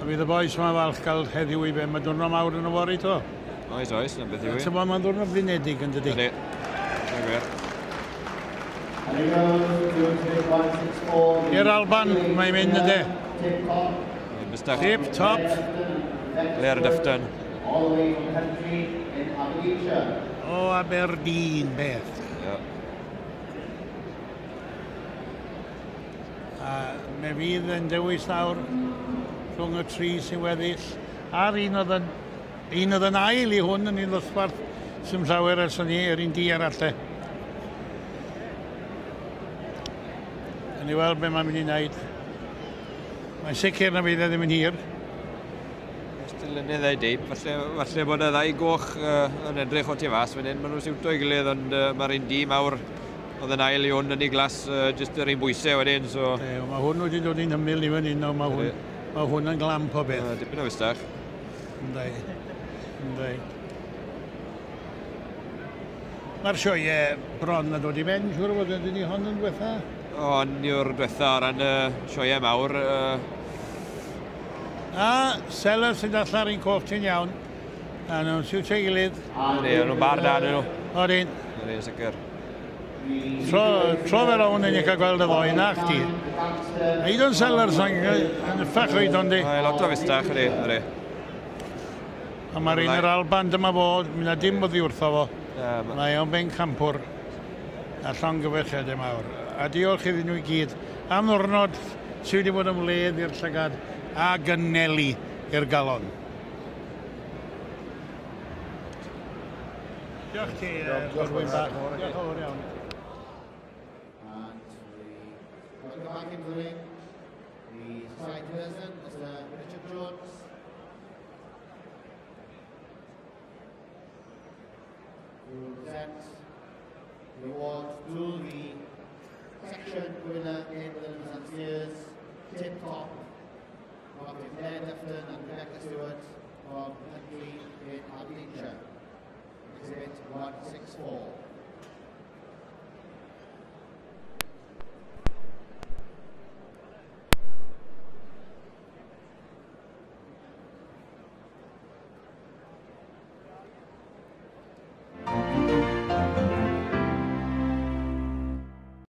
A fydd y bois yma falch gael heddiw i ben. Mae diwrnod mawr yn y fory to. Oes, oes, na beth yw i. Ti'n bod, mae'n ddiwrnod blinedig yn dydi? Ydy. Mae'n gwir. I'r Alban, mae'n mynd ydy. Tip top. Blair Dufton. O Aberdeen, beth. Yeah. A me fydd yn dewis nawr rhwng y tri sy'n weddill a'r un oedd yn, un oedd yn ail i hwn yn un ddosbarth sy'n llawer ers ni, yr un di arall e. Yn i weld beth mae'n mynd i wneud. Mae'n sicr na fydd e ddim yn hir. Dilynydd ei deip, falle, falle bod y ddau goch yn edrych o tu fas fan hyn, maen nhw'n siwto i gilydd, ond mae'r un di mawr oedd yn ail i hwn yn ei glas, jyst yr un bwysau wedyn, so... E, mae hwn wedi dod i'n hymyl i fan hyn, mae hwn, mae hwn yn glamp o beth. Dipyn o fustach. Ynddi, ynddi. Mae'r sioe bron yn dod i ben, siŵr o fod, ydyn ni hon yn dwetha? Hon yw'r dwetha o ran y sioe mawr. A Sellers sy'n allan ar un coch ti'n iawn. A nhw'n siwtio ei gilydd. Ydy, nhw'n bar da nhw. Odyn. Ydy, sicr. Tro, tro fel o'n ni'n cael gweld y ddoi, na chdi. Aidon Sellers yn ffach oed ond di. Mae lot o fustach, ydy, ydy. A mae'r un yr Alban dyma fo, mi na dim oddi wrtho fo. Mae o'n ben campwr a llongyfarchiadau mawr. A diolch iddyn nhw i gyd am ddwrnod sydd wedi bod yn wledd i'r llygad a gynelu i'r galon. Diolch ti, Godwin bach. Diolch yn fawr iawn. And we welcome back into the ring the society president, Mr. Richard Jones. Who will present the award to the section winner in the Limousin Steers, Tip Top, Dr. Claire Dufton and Rebecca Stewart from Huntly in Aberdeenshire. Exhibit 164.